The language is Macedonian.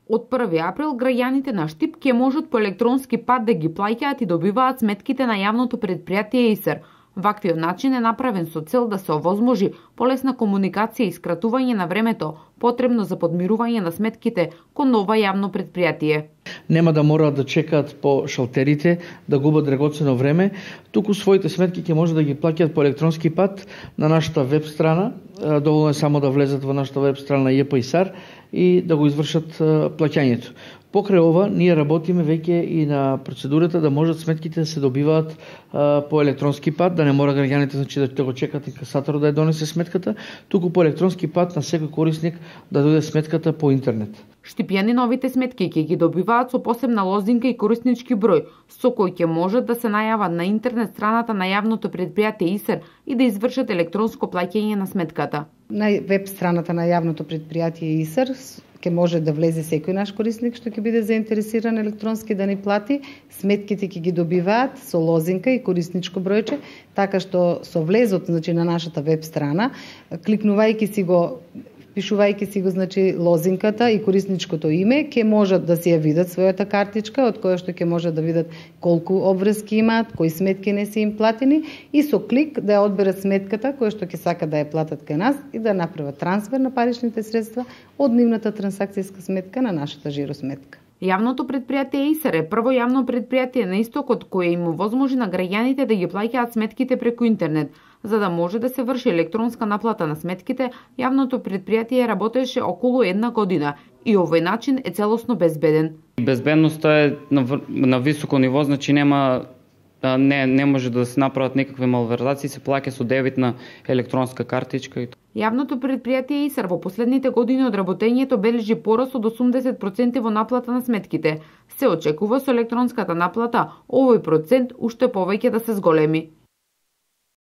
Од 1 април граѓаните на Штип ќе можат по електронски пат да ги плаќаат и добиваат сметките на јавното предпријатие ИСЕР. Ваквиот начин е направен со цел да се овозможи полесна комуникација и скратување на времето потребно за подмирување на сметките кон ова јавно предпријатие. Нема да мораат да чекаат по шалтерите, да губат драгоцено време, туку своите сметки ќе може да ги плаќаат по електронски пат на нашата веб страна. Доволно е само да влезат во нашата веб страна JPISAR и да го извршат плаќањето. Покрај ова, ние работиме веќе и на процедурата да можат сметките да се добиваат по електронски пат, да не мора граѓаните да го чекат инкасаторот да ја донесе сметката, туку по електронски пат на секој корисник да дојде сметката по интернет. Штипјани новите сметки ќе ги добиваат со посебна лозинка и кориснички број, со кој ќе можат да се најават на интернет страната на јавното предпријатие ИСЕР и да извршат електронско плаќање на сметката. На веб страната на јавното предпријатие ИСЕР ќе може да влезе секој наш корисник што ќе биде заинтересиран електронски да ни плати, сметките ќе ги добиваат со лозинка и корисничко бројче, така што со влезот на нашата веб страна, кликнувајќи си го, впишувајќи си го лозинката и корисничкото име, ќе можат да си ја видат својата картичка, од која што ќе можат да видат колку обврски имаат, кои сметки не се им платени и со клик да ја одберат сметката која што ќе сака да ја платат кај нас и да направат трансфер на паричните средства од нивната трансакцијска сметка на нашата жиросметка. Јавното предпријатие ИСЕР е прво јавно предпријатие на истокот кое им овозможи на граѓаните да ги плаќаат сметките преку интернет. За да може да се врши електронска наплата на сметките, јавното предпријатие работеше околу 1 година и овој начин е целосно безбеден. Безбедноста е на високо ниво, значи не може да се направат никакви малверзации, се плаќа со дебитна електронска картичка. Јавното предпријатие ИСЕР во последните години од работењето бележи пораст од 80% во наплата на сметките. Се очекува со електронската наплата овој процент уште повеќе да се зголеми.